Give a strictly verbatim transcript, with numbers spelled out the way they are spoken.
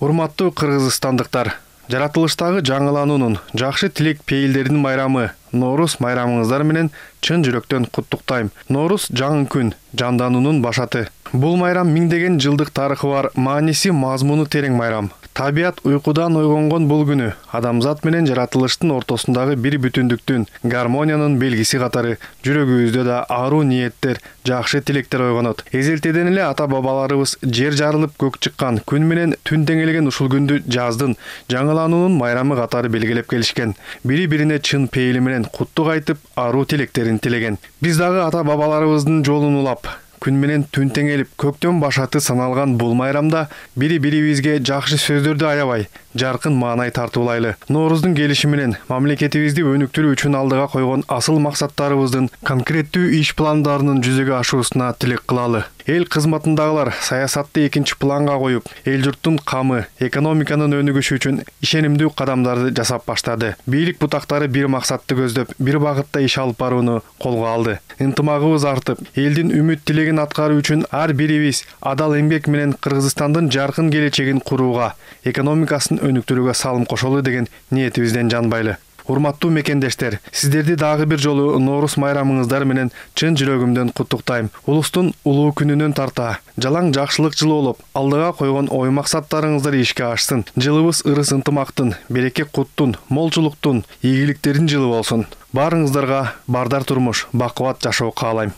Урматтуу кыргызстандыктар, жаратылыштагы жаңылануунун, жакшы тилек пейилдердин майрамы Ноорус майрамыңыздар менен чын жүрөктөн куттуктайм. Ноорус жаңы күн, жандануунун башаты. Бул майрам миңдеген жылдык тарыхы бар, мааниси мазмуну терең майрам. Табият уйкудан ойгонгон бул күнү адамзат менен жаратылыштын ортосундагы бир бүтүндүктүн, гармониянын белгиси катары жүрөгүбүздө да аруу ниеттер, жакшы тилектер ойгонот. Эзелтеден эле ата-бабаларыбыз жер жарылып көк чыккан, күн менен түн теңелген ушул күндү жаздын, жаңылануунун майрамы катары белгилеп келишкен. Бири-бирине чын пейили менен куттук айтып, аруу тилектерин тилеген. Биз дагы ата-бабаларыбыздын жолун улап, күн менен түн теңелип, көктөн башаты саналган бул майрамда бири-бирибизге жакшы сөздөрдү аябай, жаркын маанай тартуулайлы. Нооруздун келиши менен мамлекетибизди өнүктүрүү үчүн алдыга койгон асыл максаттарыбыздын конкреттүү иш пландарынын жүзөгө ашуусуна тилек кылалы. Эл кызматындагылар саясатты экинчи планга коюп, эл журттун камы, экономиканын өнүгүшү үчүн ишенимдүү кадамдарды жасап баштады. Бийлик бутактары бир максатты көздөп, бир багытта иш алып барууну колго алды. Ынтымагыбыз артып, элдин үмүт тилегин аткаруу үчүн ар бирибиз адал эмгек менен Кыргызстандын жаркын келечегин курууга, экономикасын өнүктүрүүгө салым кошолу деген ниетибизден жанбайлы. Урматтуу мекендештер, сиздерди дагы бир жолу Ноорус майрамыңыздар менен чын жүрөгүмдөн куттуктайм. Улустун улуу күнүнөн тарта, жалаң жакшылык жылы болуп, алдыга койгон ой максаттарыңыздар ишке ашсын. Жылыбыз ырыс ынтымактын, береке куттун, молчулуктун, ийгиликтердин жылы болсун. Баарыңыздарга бардар турмуш, бакубат жашоо каалайм.